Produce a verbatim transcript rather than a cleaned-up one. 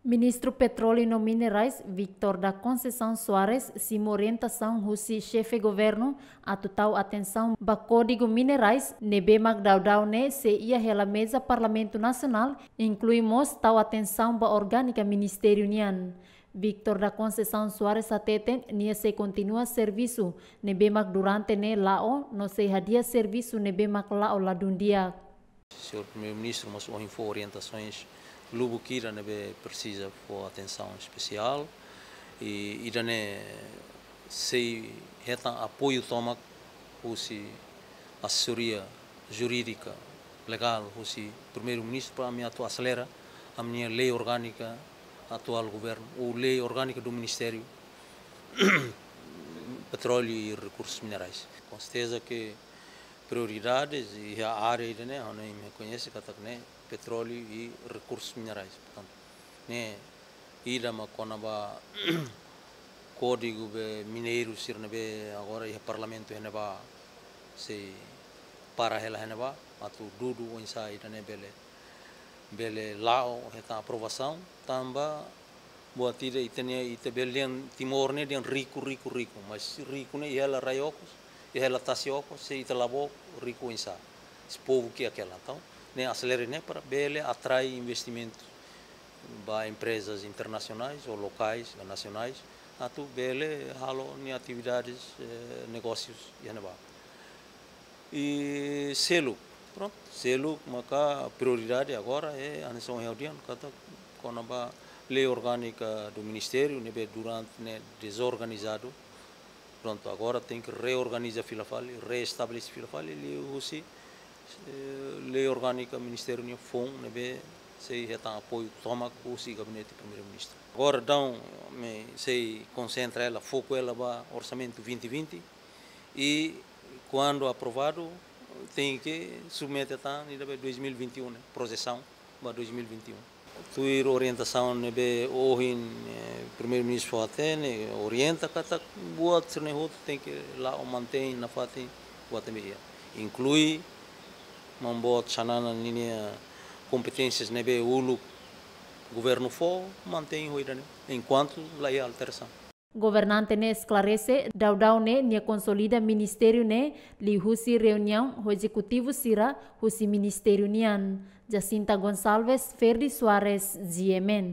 Ministru Petróleu no Minerais, Victor da Conceição Soares, simu orientasaun husi Xefe Governu atu tau atensaun ba Kódigu Minerais, ne'ebé mak daudaun ne'e sei iha hela meza Parlamentu Nasionál, inklui mós tau atensaun ba orgánika Ministériu nian. Victor da Conceição Soares hateten, nia sei kontinua servisu ne'ebé mak durante ne'e la'o, no sei hadi'a servisu ne'ebé mak la'o ladún di'ak. Señór Primeiru-Ministru mós ohin fó orientasaun lubuk ida ne'ebé presiza fó atensaun espesiál, i ida-ne'e sei hetan apoiu tomak husi asesoria jurídika legál husi Primeiru-Ministru para ami atu aselera ami-nia lei orgánika atuál governu, ou lei orgánika do Ministériu Petróleu e Rekursus Minerais. Com certeza que prioridades iha área ida-ne'e, ha'u ne'e imi koñese katak ne'e petróleu e rekursus minerais. Portantu, ne'e ida mak kona-ba kódigu be mineiru sira ne'ebé agora iha Parlamentu iha ne'ebá sei para hela iha ne'ebá, atu dudu oinsá ida-ne'e bele, bele la'o hetan aprovasaun, tanba buat ida ita-nia, ita bele dehan Timor ne'e dehan riku, riku, riku, mas riku ne'e iha hela rai okos, iha hela tasi okos, se ita la book, riku oinsá? Se povu kiak hela. Entaun, ne'e aselera ne'e para bele atrai investimentu ba emprezas internasionais ou lokais, nasionais, atu bele halo nia atividades, eh, negósius iha ne'ebá. I seluk, prontu, seluk maka prioridade agora é a nasaun reunião, katak kona-ba lei orgánika do Ministériu, ne'ebé durante ne'e dezorganizadu. Prontu, agora tenke reorganiza fila fali, reestabelese fila fali, liuhusi, eh, lei orgánika Ministériu nian foun, ne'ebé sei hetan apoiu tomak husi Gabinete Primeiru-Ministru. Agora, entaun, ami sei konsentra hela, foku hela ba orsamentu vinte vinte, i kuandu aprovadu, tenke submete tan ida be dois mil e vinte e um, ne'e, projesaun ba dois mil e vinte e um. Tuir orientasaun ne'ebé ohin, eh, Primeiru-Ministru fó hatene, orienta katak buat sira-ne'e hotu tenke la'o mantein nafatin buat ne'ebé iha. Inklui Maun Boot Xanana ninia kompeténsias ne'ebé uluk governu fó, mantein ho ida-ne'e, enkuantu la iha alterasaun. Governante ne'e esklarese, daudaun ne'e nia konsolida ministériu ne'e liuhusi reuniaun ho ezekutivu sira husi ministériu nian. Jacinta Gonçalves, Ferdi Soares, G M N.